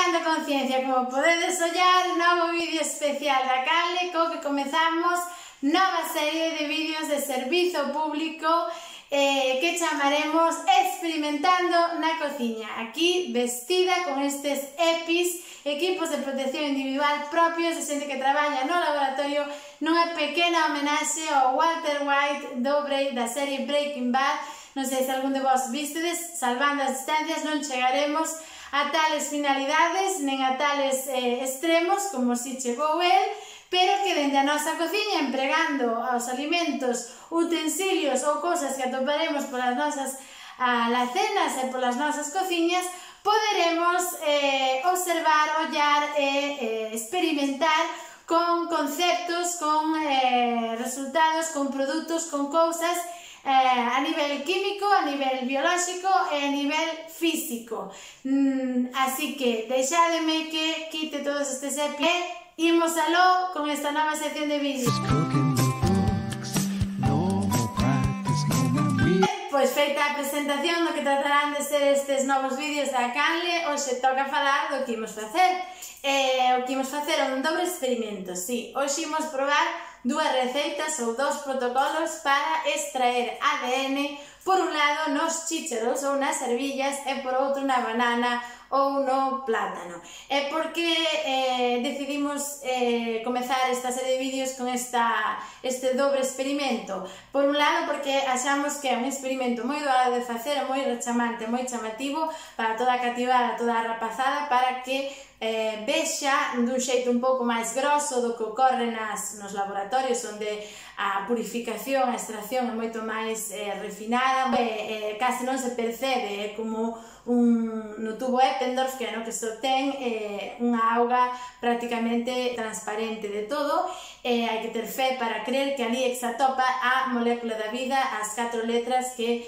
Creando Conciencia, como podedes ollar, novo vídeo especial da canle co que comezamos nova serie de vídeos de servizo público que chamaremos Experimentando na Cociña. Aquí vestida con estes EPIs, equipos de protección individual propios de xente que traballa no laboratorio, nunha pequena homenaxe ao Walter White da serie Breaking Bad. Non sei se algún de vos vistedes, salvando as distancias non chegaremos a tales finalidades, nen a tales extremos como si chegou el, pero que dende a nosa cociña, empregando aos alimentos, utensilios ou cosas que atoparemos polas nosas alacenas e polas nosas cociñas, poderemos observar, ollar e experimentar con conceptos, con resultados, con produtos, con cousas a nivel químico, a nivel biolóxico e a nivel físico. Así que deixádeme que quite todos estes EPIs e imos aló con esta nova sección de vídeos. Pois feita a presentación do que tratarán de ser estes novos vídeos da canle, hoxe toca falar do que imos facer. O que imos facer é un dobre experimento, si. Hoxe imos probar dúas receitas ou dous protocolos para extraer ADN, por un lado nos chícharos ou nas ervillas e por outro na banana ou no plátano. É porque decidimos comezar esta serie de vídeos con este dobre experimento. Por un lado porque achamos que é un experimento moi doado de facer, moi rechamante, moi chamativo para toda a cativada, toda a rapazada, para que vexa dun xeito un pouco máis grosso do que ocorre nos laboratorios, onde a purificación, a extracción é moito máis refinada, case non se percebe, é como no tubo Eppendorf, que é no que só ten unha auga prácticamente transparente de todo. Hai que ter fe para creer que ali exatopa a molécula da vida, as 4 letras que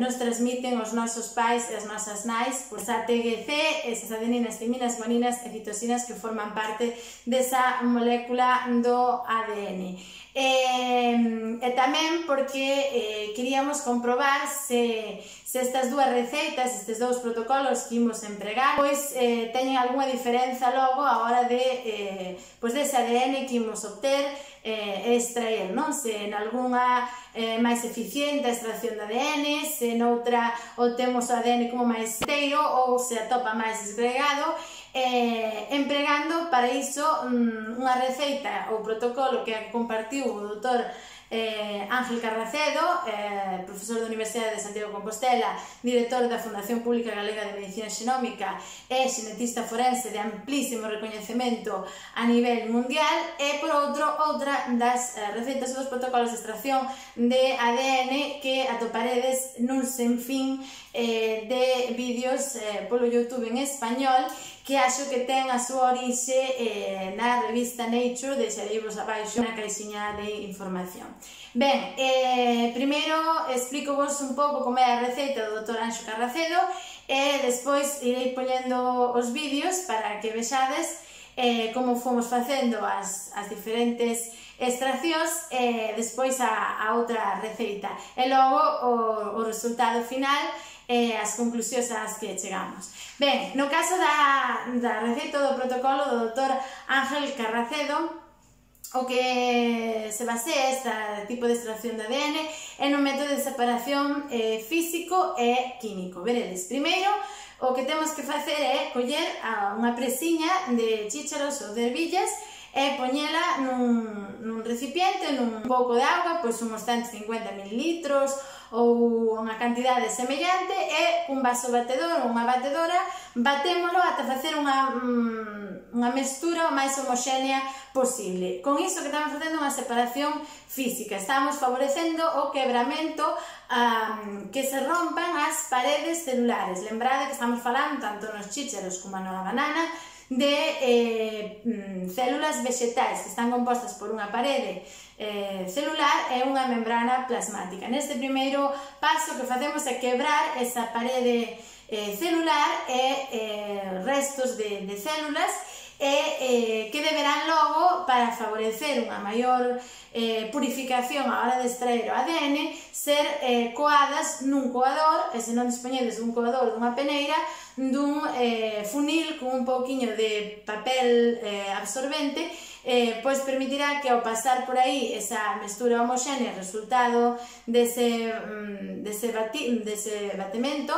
nos transmiten os nosos pais e as nosas nais, pois a TGC, esas adeninas, timinas, guaninas e citosinas que forman parte desa molécula do ADN. E tamén porque queríamos comprobar se estas dúas receitas, estes dous protocolos que imos empregar, pois teñen algunha diferenza logo a hora de dese ADN que imos obter e extraer, non? Se en algunha máis eficiente a extracción de ADN, se noutra obtemos o ADN como máis inteiro ou se atopa máis desgregado, empregando para iso unha receita ou protocolo que compartiu o doutor Ángel Carracedo, profesor da Universidade de Santiago de Compostela, director da Fundación Pública Galega de Medicina Xenómica e xenetista forense de amplísimo recoñecemento a nivel mundial, e por outro, outra das receitas dos protocolos de extracción de ADN que atoparedes nun sinfín de vídeos polo YouTube en español, que acho que ten a súa orixe na revista Nature, deixareivos abaixo na caixiña de información. Ben, primeiro explico-vos un pouco como é a receita do Dr. Anxo Carracedo e despois irei poñendo os vídeos para que vexades como fomos facendo as diferentes extraccións e despois a outra receita e logo o resultado final e as conclusións ás que chegamos. Ben, no caso da receita do protocolo do Dr. Ángel Carracedo, o que se basea este tipo de extracción de ADN é no método de separación físico e químico. Veredes, primeiro o que temos que facer é coller unha presiña de chícharos ou de ervillas e poñela nun recipiente, nun pouco de auga, pois uns 150 ml ou unha cantidade semellante, e un vaso batedor ou unha batedora batémolo ata facer unha mestura o máis homoxénea posible. Con iso que estamos facendo unha separación física, estamos favorecendo o quebramento, que se rompan as paredes celulares. Lembrade que estamos falando tanto nos chícharos como na banana de células vegetais que están compostas por unha parede celular e unha membrana plasmática. Neste primeiro paso que facemos é quebrar esa parede celular e restos de células e que deberán logo, para favorecer unha maior purificación á hora de extraer o ADN, ser coadas nun coador, e se non dispoñedes dun coador, dunha peneira, dun funil con un pouquiño de papel absorbente, pois permitirá que ao pasar por aí esa mestura homoxénea resultado dese batemento,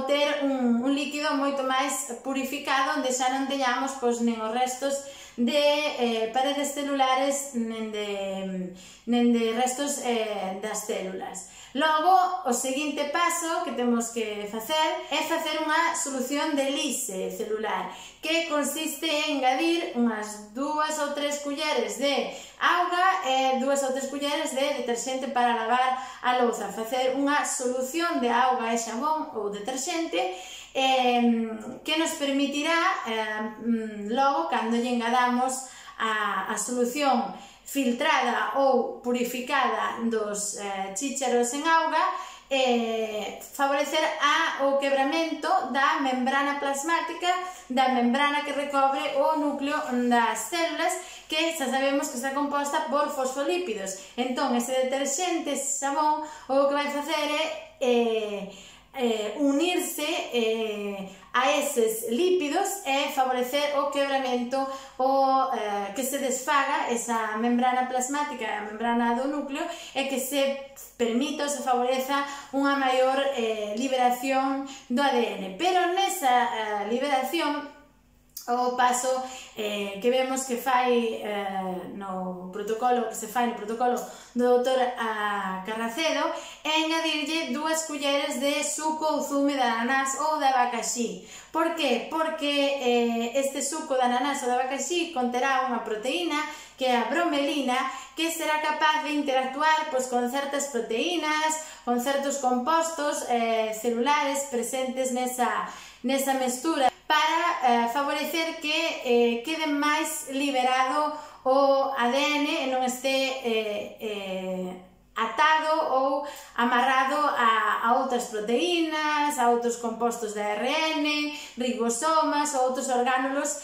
ter un líquido moito máis purificado, onde xa non teñamos nen os restos de paredes celulares nen de restos das células. Logo, o seguinte paso que temos que facer é facer unha solución de lise celular, que consiste en engadir unhas 2 ou 3 culleres de auga e 2 ou 3 culleres de deterxente para lavar a louza. Facer unha solución de auga e xabón ou deterxente que nos permitirá logo, cando lle engadamos a solución filtrada ou purificada dos chícharos en auga, favorecer o quebramento da membrana plasmática, da membrana que recobre o núcleo das células, que xa sabemos que está composta por fosfolípidos. Entón, ese deterxente, ese xabón, o que vai facer é unirse a eses lípidos e favorecer o quebramento, que se desfaga esa membrana plasmática, a membrana do núcleo, e que se permita ou se favoreza unha maior liberación do ADN. Pero nesa liberación, o paso que vemos que fai no protocolo, que se fai no protocolo do Dr. Carracedo, é engadirlle 2 culleres de suco ou zume de ananás ou de abacaxi. Por que? Porque este suco de ananás ou de abacaxi conterá unha proteína, que é a bromelina, que será capaz de interactuar con certas proteínas, con certos compostos celulares presentes nesa mestura, para favorecer que quede máis liberado o ADN e non este atado ou amarrado a outras proteínas, a outros compostos de ARN, ribosomas ou outros orgánulos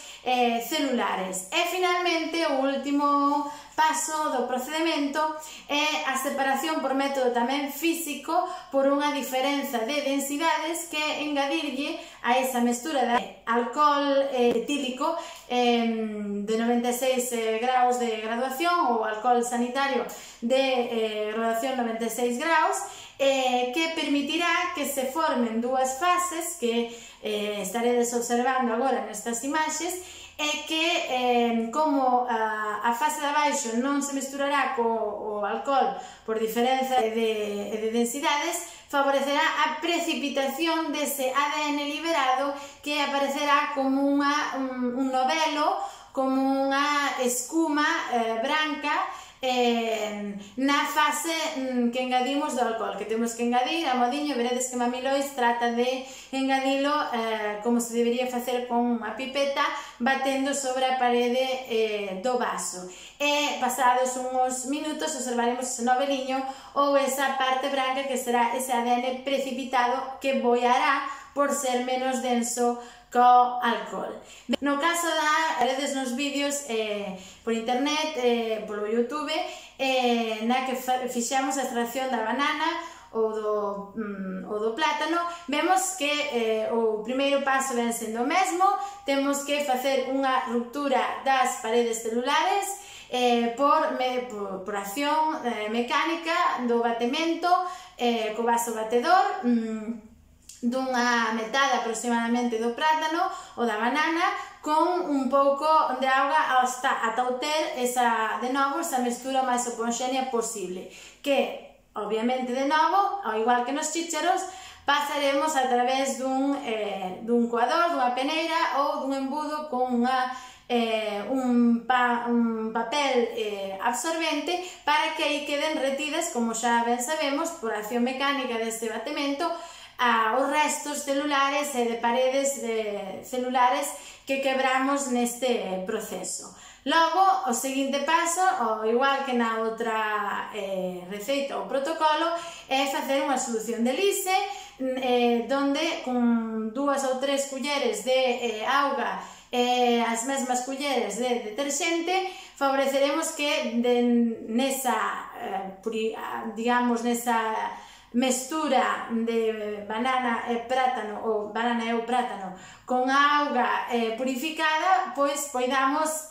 celulares. E finalmente, o último paso do procedimento é a separación por método tamén físico por unha diferenza de densidades, que é engadirlle a esa mestura de alcohol etílico de 96 graus de graduación ou alcohol sanitario de graduación 96 graus, que permitirá que se formen 2 fases que estaredes observando agora nestas imaxes, e que, como a fase de abaixo non se mesturará co alcohol por diferenza de densidades, favorecerá a precipitación dese ADN liberado, que aparecerá como un novelo, como unha escuma branca na fase que engadimos do alcohol, que temos que engadir a modiño. Veredes que Mami Lois trata de engadilo como se debería facer con unha pipeta, batendo sobre a parede do vaso, e pasados uns minutos observaremos ese noveliño ou esa parte branca, que será ese ADN precipitado, que boiará por ser menos denso co alcohol. No caso veredes nos vídeos por internet, polo YouTube, na que fixemos a extracción da banana ou do plátano, vemos que o primeiro paso ven sendo o mesmo. Temos que facer unha ruptura das paredes celulares por acción mecánica do batemento co vaso batedor, dunha metade aproximadamente do plátano ou da banana, con un pouco de auga ata obter de novo esa mestura máis homoxénea posible, que obviamente de novo, ao igual que nos chícharos, pasaremos a través dun coador, dunha peneira ou dun embudo con un papel absorbente, para que aí queden retidas, como xa ben sabemos, por acción mecánica deste batemento, os restos celulares e de paredes celulares que quebramos neste proceso. Logo, o seguinte paso, ao igual que na outra receita ou protocolo, é facer unha solución de lise, donde con 2 2 ou 3 culleres de auga e as mesmas culleres de deterxente, favoreceremos que nesa, digamos, nesa mestura de banana e plátano ou banana e o plátano con auga purificada, pois poidamos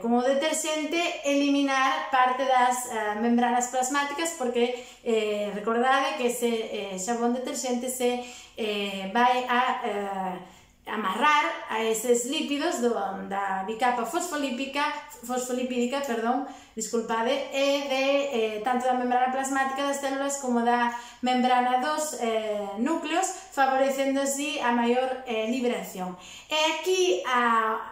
como deterxente eliminar parte das membranas plasmáticas, porque recordade que ese xabón deterxente se vai a amarrar a eses lípidos da bicapa fosfolípica, e de tanto da membrana plasmática das células como da membrana dos núcleos, favorecendo así a maior liberación. E aquí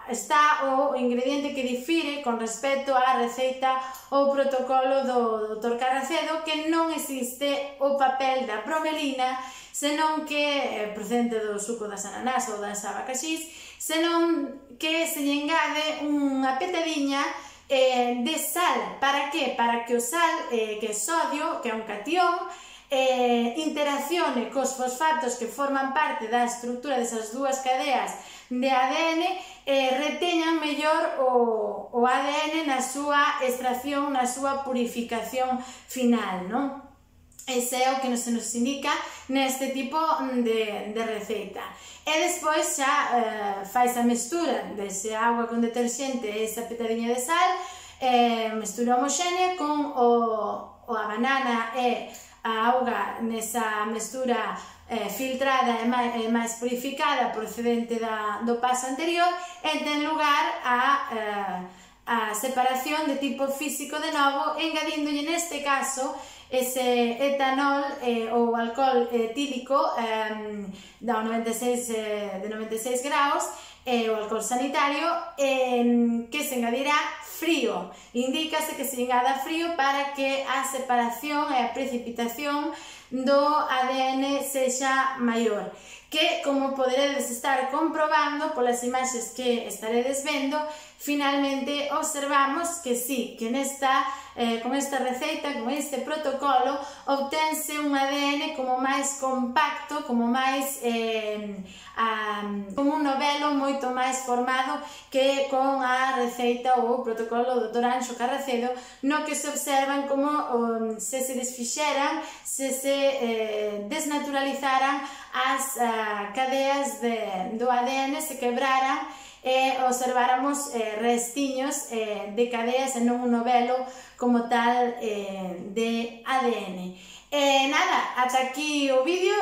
está o ingrediente que difire con respecto á receita ou protocolo do Dr. Carracedo, que non existe o papel da bromelina, senón que, procedente do suco das ananás ou das abacaxís, senón que se lle engade unha petadiña de sal. Para que? Para que o sal, que é sodio, que é un catión, interaccione cos fosfatos que forman parte da estrutura desas dúas cadeas de ADN, reteñan mellor o ADN na súa extracción, na súa purificación final, non? Ese é o que se nos indica neste tipo de receita. E despois xa fais a mestura dese auga con deterxente e esa petadiña de sal, mestura homoxénea con a banana e a auga nesa mestura filtrada e máis purificada procedente do paso anterior, e ten lugar a separación de tipo físico de novo, engadíndolle neste caso ese etanol ou alcohol etílico de 96 graus, o alcohol sanitario, que se engadirá frío. Indícase que se engada frío para que a separación e a precipitación do ADN sexa maior, que, como poderedes estar comprobando polas imaxes que estaredes vendo, finalmente observamos que sí, que con esta receita, con este protocolo, obtense un ADN como máis compacto, como máis como un novelo moito máis formado que con a receita ou o protocolo do Dr. Anxo Carracedo, no que se observan como se desfixeran, se desnaturalizaran as cadeas do ADN, se quebraran e observáramos restiños de cadeas e non un novelo como tal de ADN. Nada, ata aquí o vídeo.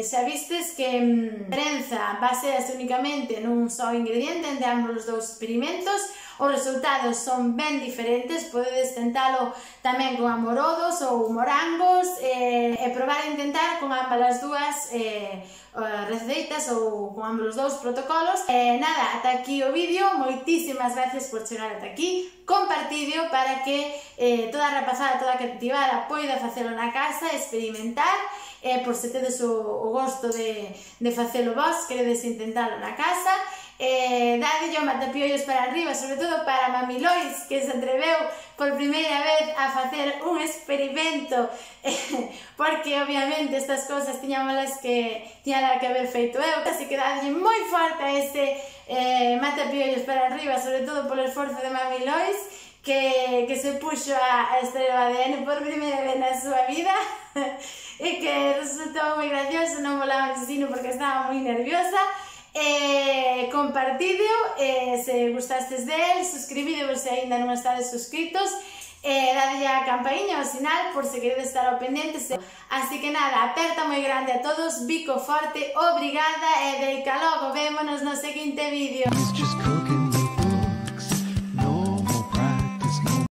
Xa vistes que a diferenza basease únicamente nun só ingrediente entre ambos os dous experimentos. Os resultados son ben diferentes, podedes tentalo tamén con amorodos ou morangos e probar a intentar con ambas as dúas receitas ou con ambos os dous protocolos. Nada, ata aquí o vídeo. Moitísimas gracias por chegar ata aquí. Compartideo para que toda a rapazada, toda a cativada poida facelo na casa, experimentar, por se tedes o gosto de facelo vos, queredes intentalo na casa. Dadelle o matapiollos para arriba, sobre todo para Mami Lois, que se atreveu por primeira vez a facer un experimento, porque obviamente estas cousas tiñámolas que haber feito eu, así que dadelle moi forte a ese matapiollos para arriba, sobre todo polo esforzo de Mami Lois, que se puxo a extraer o ADN por primeira vez na súa vida e que resultou moi gracioso. Non volaba en sino porque estaba moi nerviosa. Compartideo se gustastes del, suscribidevos se aínda non estades suscritos, dadelle a campaíña, ao sinal, por se queredes estar ao pendente. Así que nada, aperta moi grande a todos, bico forte, obrigada e deica logo, vémonos no seguinte vídeo.